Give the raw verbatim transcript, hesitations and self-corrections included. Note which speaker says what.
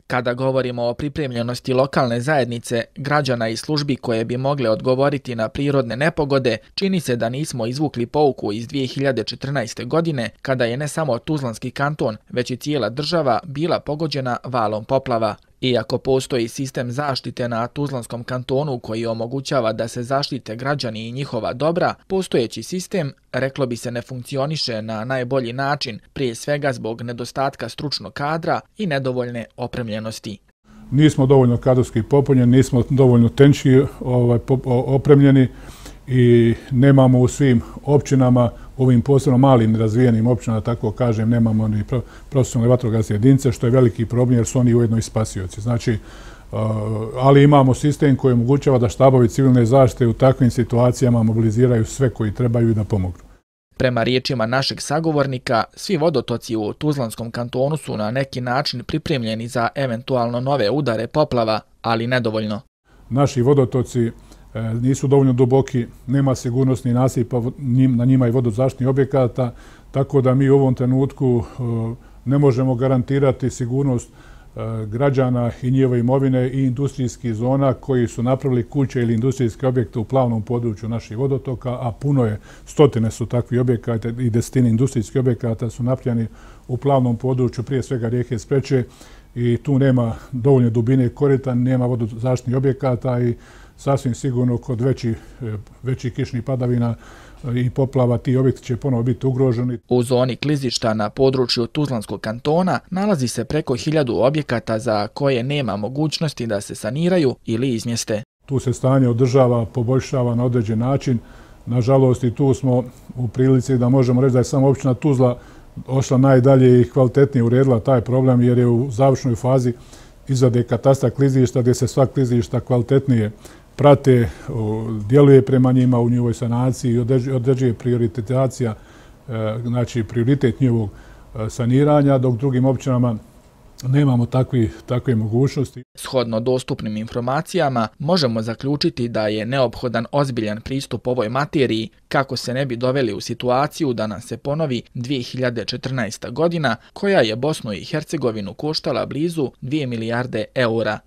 Speaker 1: Kada govorimo o pripremljenosti lokalne zajednice, građana i službi koje bi mogle odgovoriti na prirodne nepogode, čini se da nismo izvukli pouku iz dvije hiljade četrnaeste. godine, kada je ne samo Tuzlanski kanton, već i cijela država bila pogođena valom poplava. Iako postoji sistem zaštite na Tuzlanskom kantonu koji omogućava da se zaštite građani i njihova dobra, postojeći sistem, reklo bi se, ne funkcioniše na najbolji način, prije svega zbog nedostatka stručnog kadra i nedovoljne opremljenosti.
Speaker 2: Nismo dovoljno kadrovski popunjeni, nismo dovoljno tehnički ovaj, opremljeni i nemamo u svim općinama, ovim posebno malim razvijenim općinama, tako kažem, nemamo ni profesionalne vatrogasne jedinice, što je veliki problem jer su oni ujedno i spasioci. Znači, ali imamo sistem koji omogućava da štabovi civilne zaštite u takvim situacijama mobiliziraju sve koji trebaju i da pomognu.
Speaker 1: Prema riječima našeg sagovornika, svi vodotoci u Tuzlanskom kantonu su na neki način pripremljeni za eventualno nove udare poplava, ali nedovoljno.
Speaker 2: Naši vodotoci nisu dovoljno duboki, nema sigurnosnih nasipa na njima i vodozaštitnih objekata, tako da mi u ovom trenutku ne možemo garantirati sigurnost građana i njihove imovine i industrijskih zona koji su napravili kuće ili industrijske objekte u plavnom području naših vodotoka, a puno je, stotine su takvi objekata i desetine industrijskih objekata su napravljeni u plavnom području, prije svega rijeke Spreče, i tu nema dovoljne dubine korita, nema vodozaštitnih objekata i sasvim sigurno kod većih veći kišnih padavina i poplava ti objekti će ponovo biti ugroženi.
Speaker 1: U zoni klizišta na području Tuzlanskog kantona nalazi se preko hiljadu objekata za koje nema mogućnosti da se saniraju ili izmjeste.
Speaker 2: Tu se stanje održava, poboljšava na određen način. Nažalost, i tu smo u prilici da možemo reći da je samo općina Tuzla ošla najdalje i kvalitetnije uredila taj problem jer je u završnoj fazi izrade katastra klizišta gdje se sva klizišta kvalitetnije prate, djeluje prema njima u njihovoj sanaciji i određuje prioritetizacija, znači prioritet njihovog saniranja, dok drugim općinama nemamo takvi, takve mogućnosti.
Speaker 1: Shodno dostupnim informacijama, možemo zaključiti da je neophodan ozbiljan pristup ovoj materiji kako se ne bi doveli u situaciju da nam se ponovi dvije hiljade četrnaesta. godina koja je Bosnu i Hercegovinu koštala blizu dvije milijarde eura.